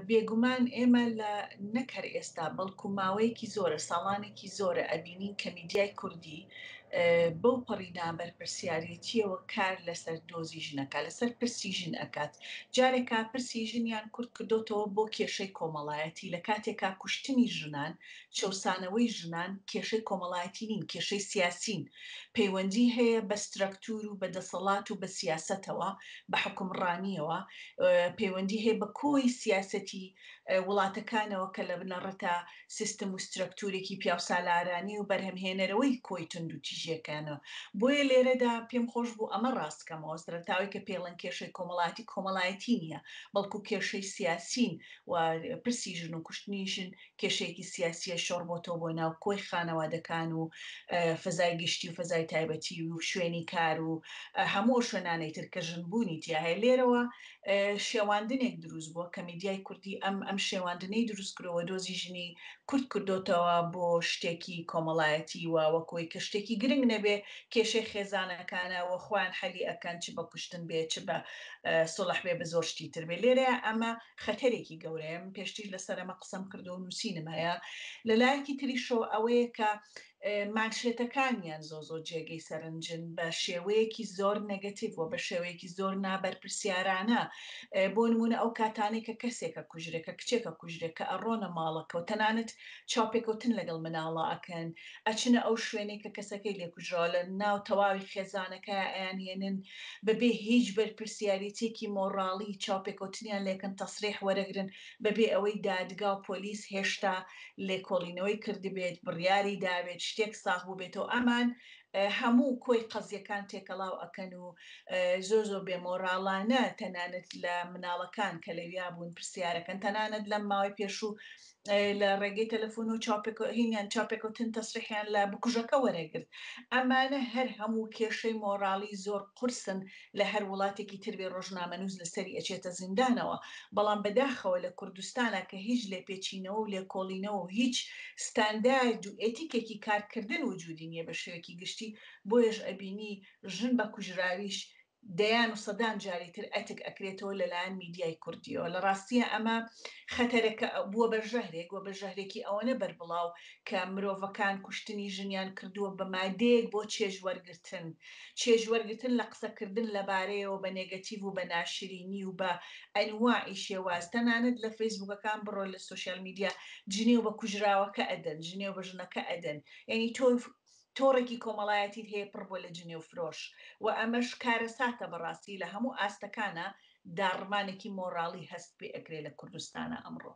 بێگومان ئێمە لە نەک هەر ئێستا بەڵکو ماوەیەکی زۆرە ساڵانێکی زۆرە ئەبینین کە میدیای کوردی بەو پەڕی نابەرپرسیارێتیەوە کار لەسەر دۆزی ژن ئەکات، لەسەر پرسی ژن ئەکات. جارێکا پرسی ژنیان کورت کردۆتەوە بۆ کێشەی کۆمەڵایەتی لە کاتێکا کوشتنی ژنان، چەوسانەوەی ژنان کێشەی کۆمەڵایەتی نین، کێشەی سیاسین. پەیوەندی هەیە بە سترەکتور و بە دەسەڵات و بە سیاسەتەوە، بە حوکمڕانیەوە، پەیوەندی هەیە بە کۆی سیاسەتی وڵاتەکانەوە کە لە بنەڕەتا سیستم و سترەکتورێکی پیاوسالارانی و بەرهەمهێنەرەوەی کۆی توندوتیژیەکانە. بۆیە لێرەدا پێم خۆش بوو ئەمە ڕاست کەمەوە، سەرەتاوەی کە پێڵەن کێشەی کۆمەڵایەتی کۆمەڵایەتی نییە، بەڵکو کێشەی سیاسین و پرسی ژن و کوشتنی ژن کێشەیەکی سیاسیە شۆڕ بۆتەوە بۆ ناو کۆی خانەوادەکان و فەزای گشتی و فەزای تایبەتی و شوێنی کار و هەموو ئەو شوێنانەی تر کە ژن بوونی تیا هەیە. لێرەوە شێواندنێک دروست بووە کە میدیای کوردی ئەم ئەم شێواندنەی دروست کردووە دۆزی ژنی کورت کردۆتەوە بۆ شتێکی کۆمەڵایەتی و وەکۆی کە شتێکی گرنگ نەبێ کێشەی خێزانەکانە و خۆیان حەلی ئەکەن چ بە کوشتن بێ چ بە سوڵح بێ بە زۆر شتی تر بێ. لێرەیا ئەمە خەتەرێکی گەورەیە من پێشتریش لەسەر ئەمە قسەم کردووە و نووسینم هەیە. لە لایەکی تریشەوە ئەوەیە کە مانشێتەکانیان زۆر زۆر جێگەی سەرنجن بە شێوەیەکی زۆر نێگەتیڤ و بە شێوەیەکی زۆر نابەرپرسیارانە. بۆ نموونە ئەو کاتانەی کە کەسێکە کوژرێ، کە کچێکە کوژرێ، کە ئەڕۆنە ماڵەکە و تەنانەت چاوپێکەوتن لەگەڵ مناڵا ئەکەن، ئەچنە ئەو شوێنەی کە کەسەکەی لێ کوژراوە، لە ناو تەواوی خێزانەکەیا ئەیانهێنن، بەبێ هیچ بەرپرسیارێتیەکی مۆڕاڵی چاوپێکەوتنیان لێکەن، تەسریح وەرەگرن، بەبێ ئەوەی دادگا و پۆلیس هێشتا لێکۆڵینەوەی کردبێت، بڕیاری دابێت، شتێک ساغ بووبێتەوە، ئەمان هەموو کۆی قەزیەکان تێکەڵاو ئەکەن و زۆر زۆر بێ مۆڕاڵانە تەنانەت لە مناڵەکان کە لەویا بوون پرسیارەکەن، تەنانەت لەم ماوەی پێشوو لە ڕێگەی تەلەفۆن و هینیان چاوپێکەوتن تەسریحیان لە بکوژەکە وەرەگرت. ئەمانە هەر هەموو کێشەی مۆڕاڵی زۆر قورسن لە هەر وڵاتێکی تر بێ ڕۆژنامەنووس لەسەری ئەچێتە زیندانەوە بەڵام بەداخەوە لە کوردستانا کە هیچ لێپێچینەوە و لێکۆڵینەوە و هیچ ستاندارد و ئێتیکێکی کارکردن وجودی نیە بە شێوەیەکی گشتی بۆیەش ئەبینی ژن بە کوژراویش دەیان و سەدان جاری تر ئەتک ئەکرێتەوە لەلایەن میدیای کوردیەوە. لە ڕاستیا ئەمە خەتەرەکە بووە بە ژەهرێک و بە ژەهرێکی ئەوەنە بەربڵاو کە مرۆڤەکان کوشتنی ژنیان کردووە بە مادەیەک بۆ چێژ وەرگرتن. چێژ وەرگرتن لە قسەکردن لەبارەیەوە بە نێگەتیڤ و بە ناشرینی و بە ئەنواعی شێواز. تەنانەت لە فەیسبووکەکان بڕۆ لە سۆشیال میدیا جنێو بە کوژراوەکە ئەدەن، جنێو بە ژنەکە ئەدەن. یانی تۆ تۆڕێکی کۆمەڵایەتیت هەیە پڕ بووە لە جنێو فرۆش و ئەمەش کارەساتە بەڕاستی لە هەموو ئاستەکانا داڕمانێکی مۆڕاڵی هەست پێ ئەکرێ لە کوردستانا ئەمڕۆ.